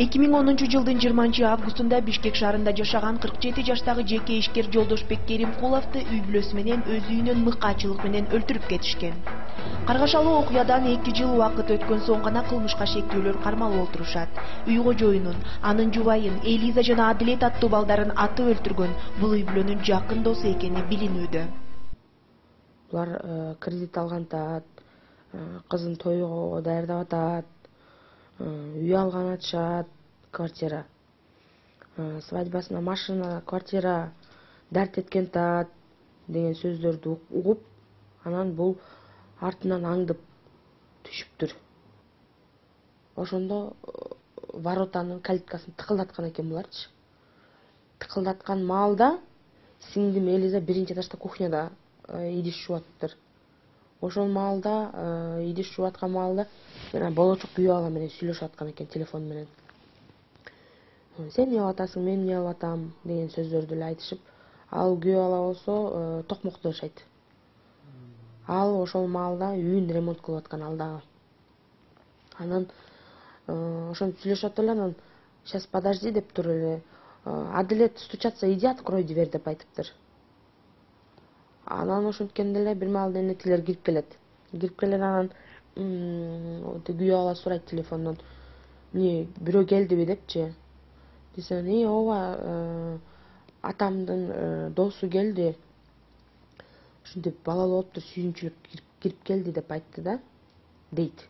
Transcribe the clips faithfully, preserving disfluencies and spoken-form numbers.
эки миң онунчу жылдын жыйырманчы августунда Бишкек шаарында жашаган кырк жети жаштагы жеке ишкер Жолдошбек Керимкуловду үй бүлөсү менен өз үйүнөн мыкаачылык менен өлтүрүп кетишкен. Каргашалуу окуядан эки жыл убакыт өткөн соң гана кылмышка шектүүлөр кармалып отурушат. Үй кожоюнун, анын жубайын Элиза жана Адилет аттуу балдарын атып өлтүргөн бул үй бүлөнүн жакын досу экени билинүүдө. Булар кредит алгантат, кызын тойго даярдап атат, үй алган атышат, квартира. Свадьбасына машина, квартира, дарт эткен тат деген сөздөрдү угуп, анан бул артынан аңдып түшүптүр. Ошондо воротанын калиткасын тыкылдаткан экен буларчы. Тыкылдаткан маалда сиңдим Элиза биринчи этажда кухняда идиш жууп атыптыр. Ошол маалда идиш жууп аткан маалда мен болочок күйөө бала менен сүйлөшүп аткан экен телефон менен. Сен эмне кылып атасың, мен эмне кылып атам деген сөздөрдү эле айтышып, ал күйөө бала болсо токмокто жашайт. Ал ошол маалда үйүн ремонт кылып аткан ал дагы. Анан ошентип сүйлөшүп атып эле, анан сейчас подожди деп туруп эле Адилет стучаться, иди открой дверь деп айтыптыр. Анан ошенткенде эле бир маалда энетилер кирип келет. Кирип келет, анан күйөө бала сурайт телефондон: "Эмне, бирөө келдиби?" депчи. Десем, "Э, ооба, атамдын досу келди. Ушинтип балалуу болуптур, сүйүнчүлүк кирип келди" деп айтты да, дейт.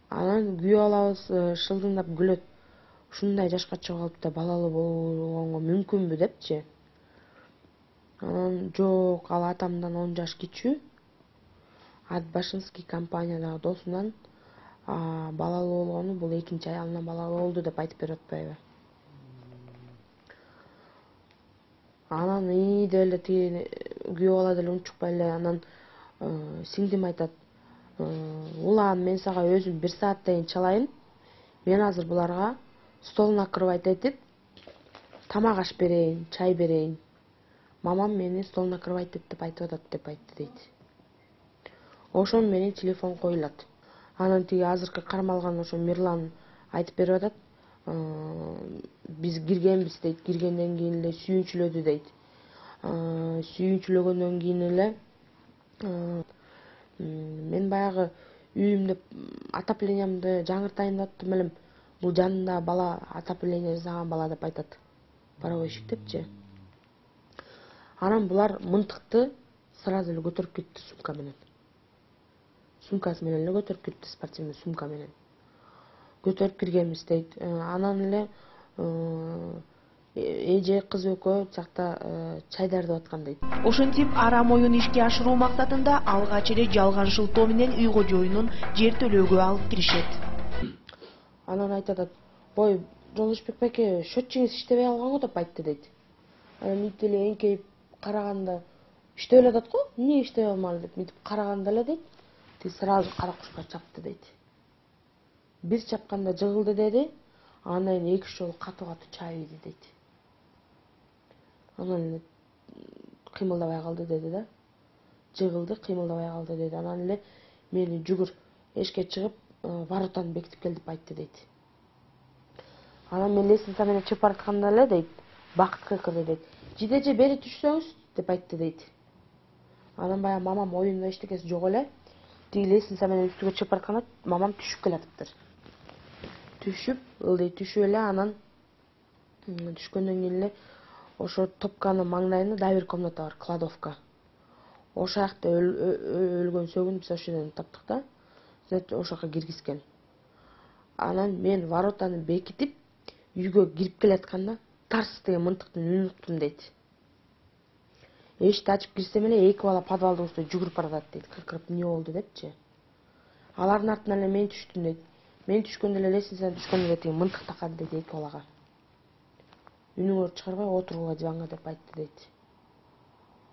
Анан күйөө балабыз шылдыңдап күлөт. Ушундай жашка чыгып алып да балалуу болгонго мүмкүнбү депчи. Анан жок, ал атамдан он жаш кичүү. Атбашинский компаниядагы досунан балалуу болгону бул экинчи аялынан балалуу болду деп айтып берип атпайбы. Анан и деп эле тиги күйөө бала деле унчукпай эле анан сиңдим айтат: "Улан, мен сага өзүм бир сааттайын чалайын. Мен азыр буларга стол накрывать этип, тамак аш берейин, чай берейин. Мамам мени стол накрывать эт деп айтып атат" деп айтты дейт. Ошону менен телефон коюлат. Анан тиги азыркы кармалган ошо Мирлан айтып берип атат: "Биз киргенбиз" дейт. Киргенден кийин эле сүйүнчүлөдү дейт. Сүйүнчүлөгөндөн кийин эле мен баягы үйүмдө отоплениямды жаңыртайын деп аттым элем. Бул жанында бала отопление жасаган бала деп айтат. Паровойщик депчи. Анан булар мынтыкты сразу эле көтөрүп кетти сумка менен. Сумкасы менен эле көтөрүп кетти, спортивный сумка менен. Көтөрүп киргенбиз дейт. Анан эле эже кыз экөө жакта чай даярдап аткан дейт. Ошентип арам оюн ишке ашыруу максатында алгач эле жалган шылтоо менен үй кожоюнун жер төлөөгө алып киришет. Анан айтып атат: "Ой, Жолдошбек байке, счетчиңиз иштебей калган го" деп айтты дейт. Анан мынтип эле эңкейип караганда иштеп эле атат го, эмне иштебей калмады деп мынтип караганда эле дейт, тиги сразу кара кушка чапты дейт. Бир чапканда жыгылды деди, андан кийин эки үч жолу катуу-катуу чаап ийди дейт. Анан эле кыймылдабай калды деди да. Жыгылды, кыймылдабай калды деди. Анан эле мени жүгүр, эшикке чыгып, воротаны бекитип кел деп айтты дейт. Анан мен лестница менен чыгып баратканда эле дейт, Бакыт кыйкырды дейт. "Жидеже бери түшсөңүз" деп айтты дейт. Анан баягы мамам оюнда эчтекеси жок эле. Тиги лестница менен үстүгө чыгып баратканда мамам түшүп келатыптыр. Түшүп, ылдый түшүп эле анан түшкөндөн кийин эле ошо топканын маңдайында дагы бир комната бар, кладовка. Ошол жакта өлгөн сөгүн биз ошол жерден таптык да. Значит, ошол жака киргизген. Анан мен воротаны бекитип, үйгө кирип келатканда тарс деген мынтыктын үнүн уктум дейт. Эшикти ачып кирсем эле эки бала подвалдын үстүнө жүгүрүп баратат дейт, кыркырып эмне болду депчи. Алардын артынан эле мен түштүм дейт. Мен түшкөндө эле лестницадан түшкөндө эле тиги мынтык такады дейт эки балага. Үнүңөрдү чыгарбай отургула диванга деп айтты дейт.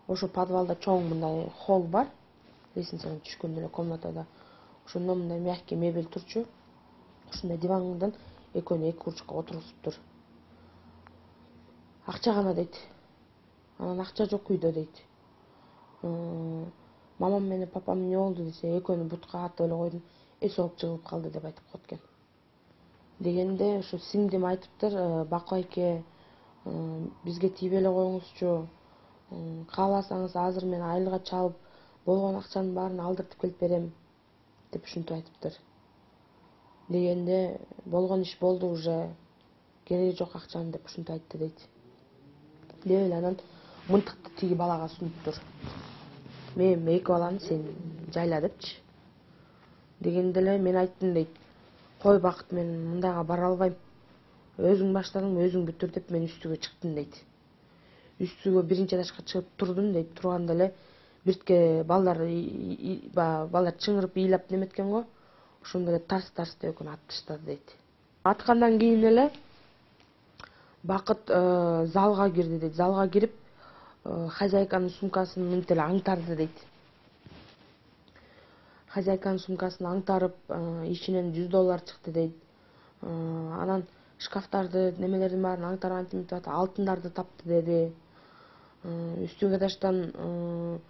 Ошо подвалда чоң мындай холл бар. Лестницадан түшкөндө эле комнатада. Ошондо мындай мягкий мебель турчу. Ушундай дивандан экөөнү эки курчакка отургузуптур. Акча гана дейт. Анан акча жок үйдө дейт. Мамам менен папам эмне болду десе, экөөнү бутка атып эле койдум, эс алып жыгылып калды деп айтып коет экен. дегенде ошо сиңдим айтыптыр, Баку айке, бизге тийбей эле коюңузчу, кааласаңыз азыр мен айылга чалып болгон акчанын баарын алдыртып келип берем деп ушинтип айтыптыр. Дегенде болгон иш болду уже, кереги жок акчанын деп ушинтип айтты дейт. Деп эле анан мынтыкты тиги балага сунуптур. Мен эки баланы сен жайла депчи. Дегенде эле мен айттым дейт, кой Бакыт, мен мындайга бара албайм. Өзүң баштадың, өзүң бүтүр деп мен үстүгө чыктым дейт. Үстүгө биринчи этажга чыгып турдум дейт. Турганда эле биртке балдар балдар чыңырып ыйлап неметкен го. Ошондо эле тарс-тарс деп экөөнү атып таштады дейт. Аткандан кийин эле Бакыт залга кирди дейт. Залга кирип, хозяйканын сумкасын мынтип эле аңтарды дейт. Хозяйканын сумкасын аңтарып, ичинен жүз доллар чыкты дейт. Анан шкафтарды, немелердин баарын аңтарып антип атат, алтындарды тапты деди. Үстүнкү этаждан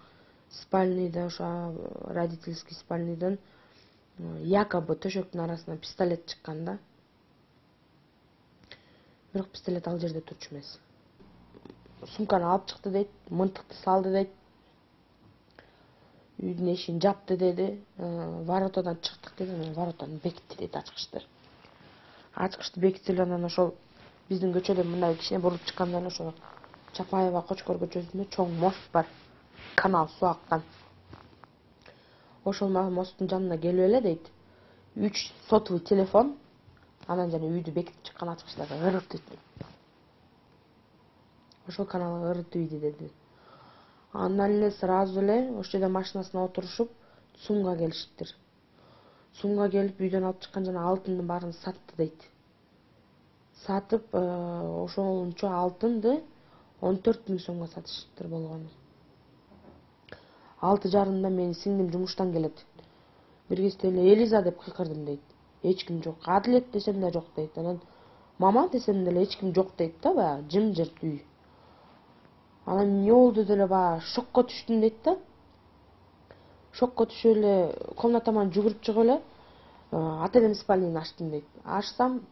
спальныйдан, ошо родительский спальныйдан якобы төшөктүн арасынан пистолет чыккан да. Бирок пистолет ал жерде турчу эмес. Сумканы алып чыкты дейт, мынтыкты салды дейт. Үйдүн эшигин жапты деди. Воротадан чыктык деди, воротаны бекитти дейт, ачкычты. Ачкычты бекитип анан ошол биздин көчөдөн мындай кичине буруп чыкканда ошо Чапаева Кочкор көчөсүндө чоң мост бар. Канал суу аккан. Ошол мосттун жанына келип эле дейт. Үч сотовый телефон, анан жана үйдү бекитип чыккан ачкычтарды ырытты. Ошол каналга ырытып ийди деди. Андан эле сразу эле ошол жерде машинасына отурушуп, ЦУМга келиштир. ЦУМга келип үйдөн алып чыккан жана алтындын баарын сатты дейт. Сатып, ошончо алтынды он төрт миң сомго сатышыптыр болгону. Алты жарымда менин сиңдим жумуштан келет. Бир кезде эле Элиза деп кыйкырдым дейт. Эч ким жок. Адилет десем да жок дейт. Анан мама десем деле эч ким жок дейт да, баягы жымжырт үй. Анан эмне болду деле баягы шокко түштүм дейт да. Шокко түшүп эле комнатаман жүгүрүп чыгып эле ательенин спальнягын ачтым дейт. Ачсам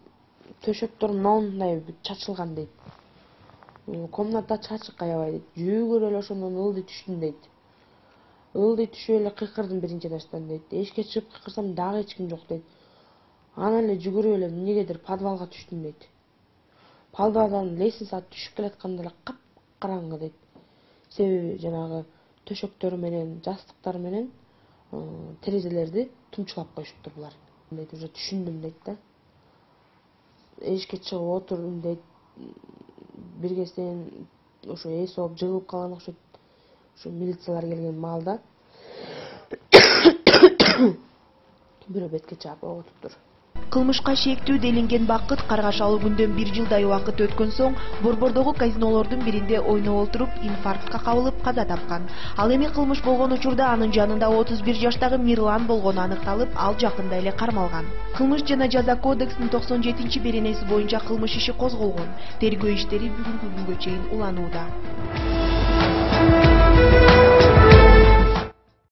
төшөктөр мындай чачылган дейт. Комната чачык аябай дейт. Жүгүрүп эле ошондон ылдый түштүм дейт. Ылдый түшүп эле кыйкырдым биринчи этаждан дейт. Эшикке чыгып кыйкырсам дагы эч ким жок дейт. Анан эле жүгүрүп эле эмнегедир подвалга түштүм дейт. Подвалдан лестницага түшүп келатканда эле капкараңгы дейт. Себеби жанагы төшөктөрү менен, жастыктары менен терезелерди тумчулап коюшуптур булар. Дейт, уже түшүндүм дейт да. Эшикке чыгып отурдум дейт. Бир кезден ошо эс алып жыгылып калган окшойт. Ошо милициялар келген маалда бирөө бетке чаап ок утуптур. Кылмышка шектүү делинген Бакыт каргашалуу күндөн бир жылдай убакыт өткөн соң Борбордогу казинолордун биринде ойноп отуруп инфарктка кабылып каза тапкан. Ал эми кылмыш болгон учурда анын жанында отуз бир жаштагы Мирлан болгону аныкталып, ал жакында эле кармалган. Кылмыш жана жаза кодексинин токсон жетинчи беренеси боюнча кылмыш иши козголгон. Тергөө иштери бүгүнкү күнгө чейин уланууда.